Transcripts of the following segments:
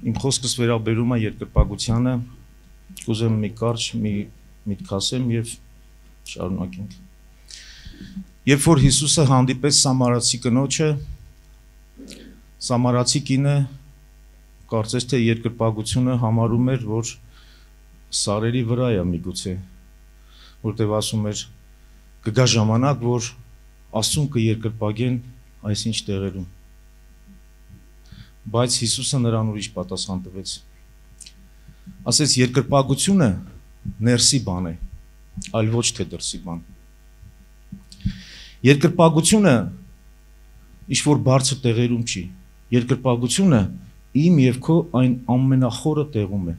Իմ խոսքս վերաբերում է երկրպագությանը, կուզեմ մի կարճ մի միտք ասեմ եւ շարունակենք։ Երբ որ Հիսուսը հանդիպեց Սամարացի կնոջը, Սամարացի կինը կարծես թե երկրպագությունը համարում էր, որ սարերի վրա է միգուցե, որտեղ ասում էր կգա ժամանակ, որ Աստծուն կերկրպագեն այսինչ տեղերում։ Բայց Հիսուսը նրան ուրիշ պատասխան տվեց։ Ասեց երկրպագությունը ներսի բան է, այլ ոչ թե դրսի բան։ Երկրպագությունը ինչ որ բարձր տեղերում չի։ Երկրպագությունը իմ եւ քո այն ամենախորը տեղում է։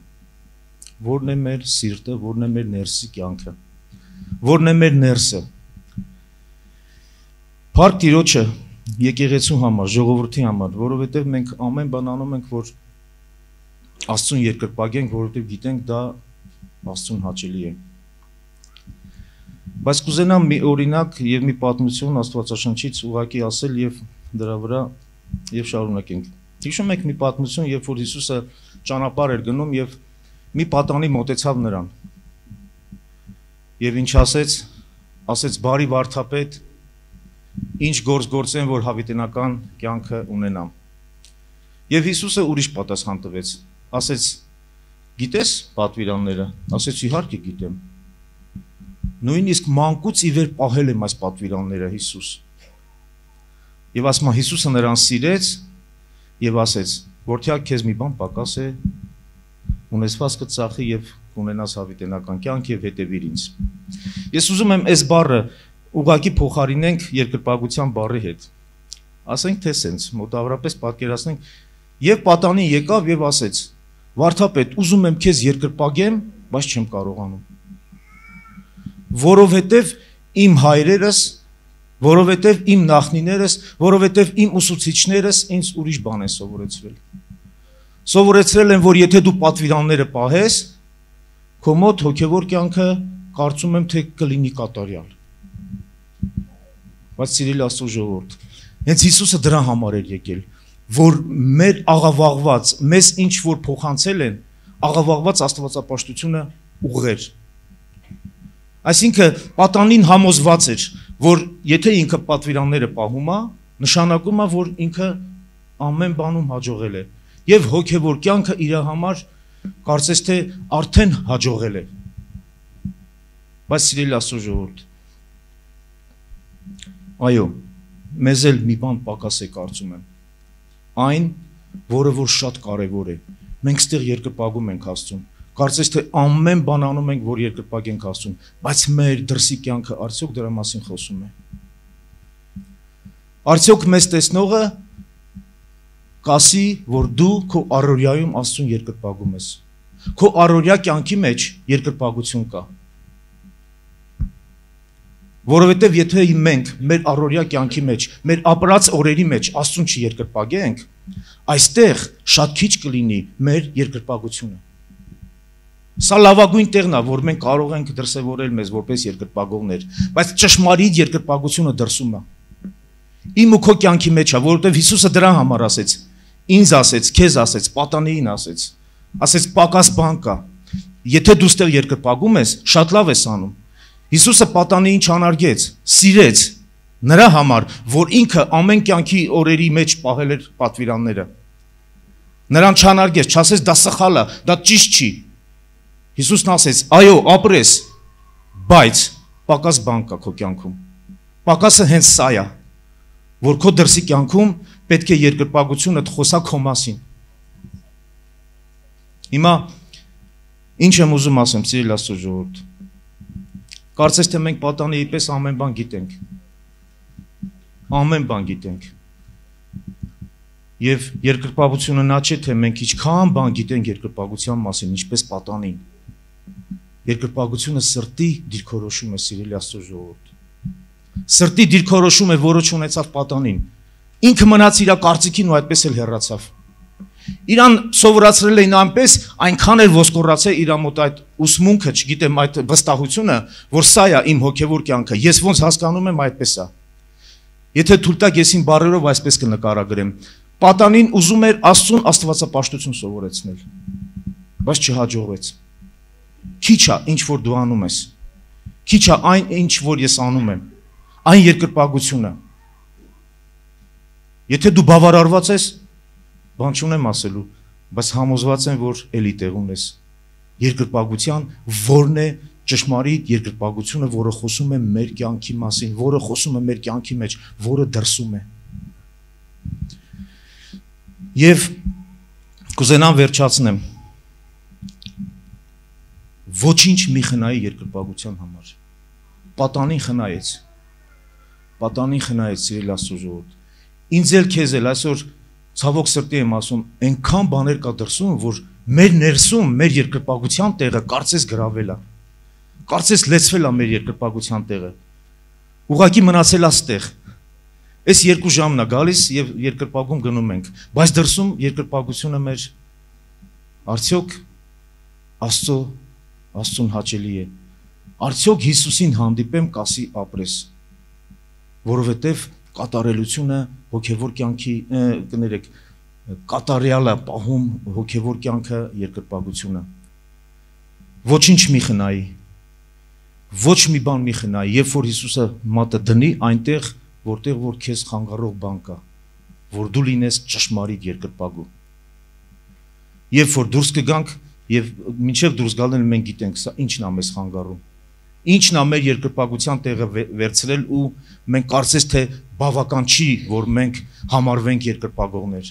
Որն է մեր սիրտը, որն է մեր ներսի կյանքը, որն է մեր ներսը։ Փառք Տիրոջը եկեղեցու համար, ժողովրդի համար, որովհետև մենք ամեն բան անում ենք, որ Աստծուն երկրպագենք, որովհետև գիտենք դա Աստծուն հաճելի է։ Բայց կուզենամ մի օրինակ եւ մի պատմություն Աստվածաշնչից ուղղակի ասել եւ դրա վրա եւ շարունակենք։ Հիշում եք մի պատմություն, երբ որ Հիսուսը ճանապարհ էր գնում եւ մի պատանի մոտեցավ նրան։ Եվ ինչ ասեց բարի վարդապետ, ինչ գործ գործեն, որ հավիտենական կյանքը ունենամ։ Եվ Հիսուսը ուրիշ պատասխան տվեց, ասեց գիտես պատվիրանները, ասեց իհարկե գիտեմ։ Նույնիսկ մանկուց ի վեր պահել եմ այս պատվիրանները Հիսուս։ Եվ ասում է Հիսուսը նրան սիրեց եւ ասեց, որդյա քեզ մի բան պակաս է, ունեցվածքը ծախի եւ կունենաս հավիտենական կյանք եւ հետեւիր ինձ։ Ես ուզում եմ այս բառը ուղղակի փոխարինենք երկրպագության բառի հետ։ Ասենք թե սենց, մոտավորապես պատկերացնենք, եւ պատանին եկավ եւ ասեց. Վարդապետ, ուզում եմ քեզ երկրպագեմ, բայց չեմ կարողանում։ Որովհետեւ իմ հայրերս, որովհետեւ իմ նախնիներս, որովհետեւ իմ ուսուցիչներս ինձ ուրիշ բան են սովորեցրել։ Սովորեցրել են, որ եթե դու պատվիրանները պահես, քո մոտ հոգևոր կյանքը կարծում եմ թե կլինի կատարյալ։ Բայց սիրելի Աստծո ժողովուրդ, հենց Հիսուսը դրա համար էր եկել, որ մեր աղավաղված, մեզ ինչ որ փոխանցել են, աղավաղված աստվածապաշտությունը ուղղեր։ Այսինքն պատանին համոզված էր, որ եթե ինքը պատվիրանները պահում է, նշանակում է, որ ինքը ամեն բանում հաջողել է, եւ հոգևոր կյանքը իր համար կարծես թե արդեն հաջողել է։ Բայց սիրելի Աստծո ժողովուրդ, այո, մեզ էլ մի բան պակաս է կարծում եմ, այն, որը որ շատ կարևոր է, մենք ստեղ երկրպագում ենք Աստծուն, կարծես թե ամեն բան անում ենք, որ երկրպագենք Աստծուն, բայց մեր դրսի կյանքը արդյոք դրա մասին խոսում է։ Արդյոք մեզ տեսնողը կասի, որ դու քո առօրյայում Աստծուն երկրպագում ես, քո առօրյա կյանքի մեջ երկրպագություն կա։ Որովհետև եթե մենք մեր առօրյա կյանքի մեջ, մեր ապրած օրերի մեջ Աստծուն չերկրպագենք, այստեղ շատ քիչ կլինի մեր երկրպագությունը։ Սա լավագույն տեղն է, որ մենք կարող ենք դրսևորել մեզ որպես երկրպագողներ, բայց ճշմարիտ երկրպագությունը դրսում է։ Իմ ու քո կյանքի մեջ է, որովհետև Հիսուսը դրա համար ասեց, ինձ ասեց, քեզ ասեց, պատանիին ասեց պակաս բան կա։ Եթե դու ստեղ երկրպագում ես, շատ լավ ես անում։ Հիսուսը պատանիին չանարգեց, սիրեց նրա համար, որ ինքը ամեն կյանքի օրերի մեջ պահել էր պատվիրանները։ Նրան չանարգեց, չասեց դա սխալ է, դա ճիշտ չի։ Հիսուսն ասեց, այո, ապրես, բայց պակաս բան կա քո կյանքում։ Պակասը հենց սա է, որ քո դրսի կյանքում պետք է երկրպագությունը խոսա քո մասին։ Հիմա ինչ եմ ուզում ասեմ, սիրելի Աստծո ժողովուրդ։ Կարծես թե մենք պատանիի պես ամեն բան գիտենք։ Ամեն բան գիտենք։ Եվ երկրպագությունը նա չէ, թե մենք ինչքան բան գիտենք երկրպագության մասին, ինչպես պատանին։ Երկրպագությունը սրտի դիրքորոշում է, սիրելի Աստծո ժողովուրդ։ Սրտի դիրքորոշում է, որը չունեցավ պատանին։ Ինքը մնաց իր կարծիքին ու այդպես էլ հեռացավ։ Իրան սովորացրել էին այնպես, այնքան էլ ոսկորացել իր մոտ այդ ուսմունքը, չգիտեմ, այդ վստահությունը, որ սա է իմ հոգևոր կյանքը, ես ոնց հասկանում եմ այդպես է։ Եթե թույլ տաք ես իմ բառերով այսպես կնկարագրեմ, Պատանին ուզում էր Աստծուն աստվածապաշտություն սովորեցնել, բայց չհաջողվեց։ Քիչ է ինչ որ դու անում ես, քիչ է այն ինչ որ ես անում եմ, այն երկրպագությունը։ Եթե դու բավարարված ես, բան չունեմ ասելու, բայց համոզված եմ, որ էլի տեղ ունես։ Երկրպագության որն է ճշմարիտ երկրպագությունը, որը խոսում է մեր կյանքի մասին, որը խոսում է մեր կյանքի մեջ, որը դրսում է։ Եվ կուզենամ վերջացնեմ։ Ոչինչ մի խնայի երկրպագության համար։ Պատանին խնայեց։ Պատանին խնայեց, սիրելի Աստծո ժողովուրդ։ Ինձ էլ քեզ էլ այսօր ցավոք սրտի եմ ասում, այնքան բաներ կա դրսում, որ մեր ներսում, մեր երկրպագության տեղը կարծես գրավել է։ Կարծես լեցվել է մեր երկրպագության տեղը։ Ուղղակի մնացել է ստեղ։ Այս 2 ժամն է գալիս եւ երկրպագում գնում ենք, բայց դրսում երկրպագությունը մեր արդյոք Աստծուն հաճելի է։ Արդյոք Հիսուսին հանդիպեմ կասի ապրես, որովհետև կատարելությունը հոգևոր կյանքի կներեք կատարյալը պահում հոգևոր կյանքը երկրպագությունը։ Ոչինչ մի խնայի, ոչ մի բան մի խնայի, երբ որ Հիսուսը մատը դնի այնտեղ, որտեղ որ քեզ խանգարող բան կա, որ դու լինես ճշմարիտ երկրպագու։ Երբ որ դուրս կգանք եւ մինչեւ դուրս գալն մենք գիտենք սա ինչն է մեզ խանգարում։ Ինչն է մեր երկրպագության տեղը վերցրել ու մենք կարծես թե բավական չի, որ մենք համարվենք երկրպագողներ։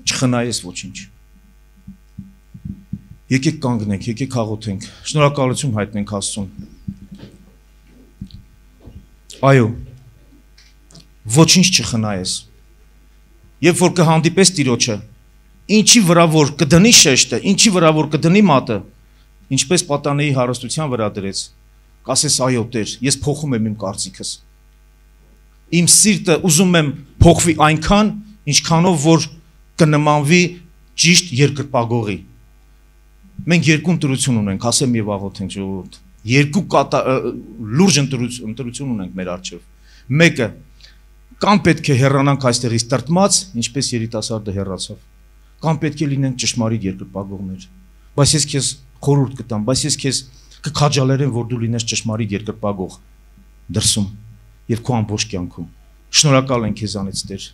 Չխնայես ոչինչ։ Եկեք կանգնենք, եկեք աղոթենք, շնորհակալություն հայտնենք Աստծուն։ Այո, ոչինչ չխնայես։ Երբ որ կհանդիպես Տիրոջը, ինչի վրա որ կդնի շեշտը, ինչի վրա որ կդնի մատը, ինչպես պատանեի հարստության վրա դրեց, կասես այո Տեր, ես փոխում եմ իմ կարծիքս։ Իմ սիրտը ուզում եմ փոխվի այնքան, ինչքանով որ կնմանվի ճիշտ երկրպագողի։ Մենք 2 ընտրություն ունենք, ասեմ եւ աղոթենք ժողովուրդ։ 2 լուրջ ընտրություն ունենք մեր առջև։ Մեկը կամ պետք է հեռանանք այստեղից տրտմած, ինչպես երիտասարդը հեռացավ, կամ պետք է լինենք ճշմարիտ երկրպագողներ։ Բայց ես քեզ խորհուրդ կտամ, բայց ես քեզ կքաջալերեմ, որ դու լինես ճշմարիտ երկրպագող դրսում եւ քո ամբողջ կյանքում։ Շնորհակալ ենք քեզանից Տեր։